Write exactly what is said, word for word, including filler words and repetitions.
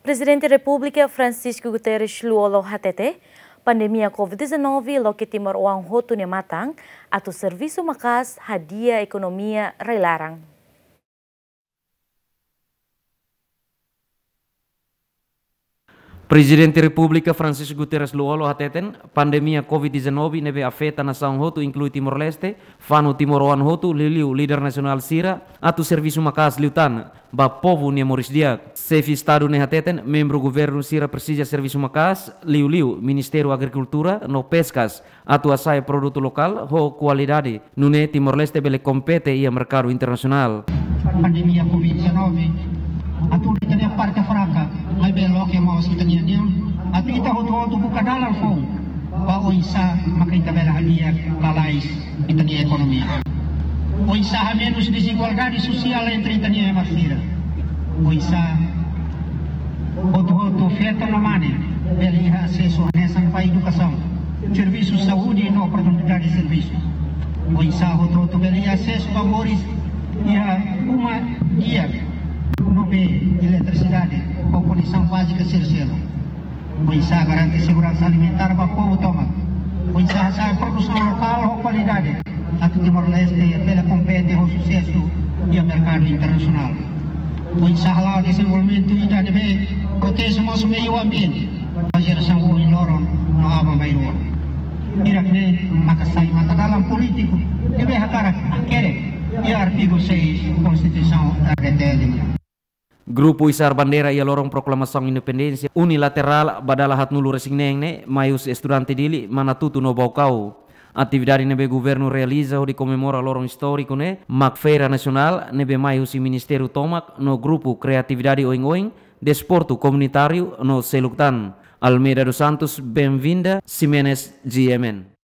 Prezidente Repúblika Francisco Guterres Lú-Olo hatete, pandemia covid dezanove loke timoroan hotu nia matan, atu servisu maka'as hadi'a ekonomia rai-laran. Prezidente Repúblika Francisco Guterres Lú-Olo hateten, pandemia covid dezanove ne'ebé afeta nasaun hotu, inklui Timor-Leste, fanu timoroan hotu, liuliu líder nasionál sira, atu servisu maka'as liután ba povu nia moris di'ak. Xefe Estadu ne'e hateten, membru governu sira presiza servisu maka'as, liuliu Ministériu Agrikultura no Peskas, atu hasa'e produtu lokál ho kualidade, nune'e Timor-Leste bele kompete iha merkadu internasionál. Pandemia covid dezanove, atu ita-nia parte fraka, maibé loke mós ita-nia di'ak, atu ita hotu-hotu buka dalan foun ba oinsá maka ita bele hadi'a lalais ita-nia ekonomia. Oinsá hamenus dezigualdade sosiál entre ita-nia ema sira. Oinsá hotu-hotu feto no mane bele iha asesu hanesan ba edukasaun, servisu saúde no oportunidade servisu. Oinsá hotu-hotu bele iha asesu ba moris iha uma di'ak, no bee, eletrisidade, ho kondisaun bázika sira seluk. Oinsá garante seguransa alimentár ba povu tomak. Oinsá hasa'e produsaun lokál ho kualidade, atu Timor-Leste bele kompete ho susesu iha merkadu internasionál. Oinsá hala'o dezenvolvimentu ida ne'ebé proteje mós meiu ambiente ba jerasaun ohin loron no aban-bainrua. Hirak-ne'e maka sai matadalan polítiku ne'ebé hakarak hakerek iha artigu seis Konstituisaun R D T L. Grupu isar bandeira iha loron proklamasaun independénsia unilaterál ba dala haatnulu-resin-neen ne'e, mai husi estudante Dili, Manatuto no Baucau. Atividade ne'ebé governu realiza hodi komemora loron istóriku ne'e, mak feira nasionál ne'ebé mai husi ministériu tomak no grupu kreatividade oioin, desportu komunitáriu no seluk tan. Almeida dos Santos, Benvinda Ximenes, G M N.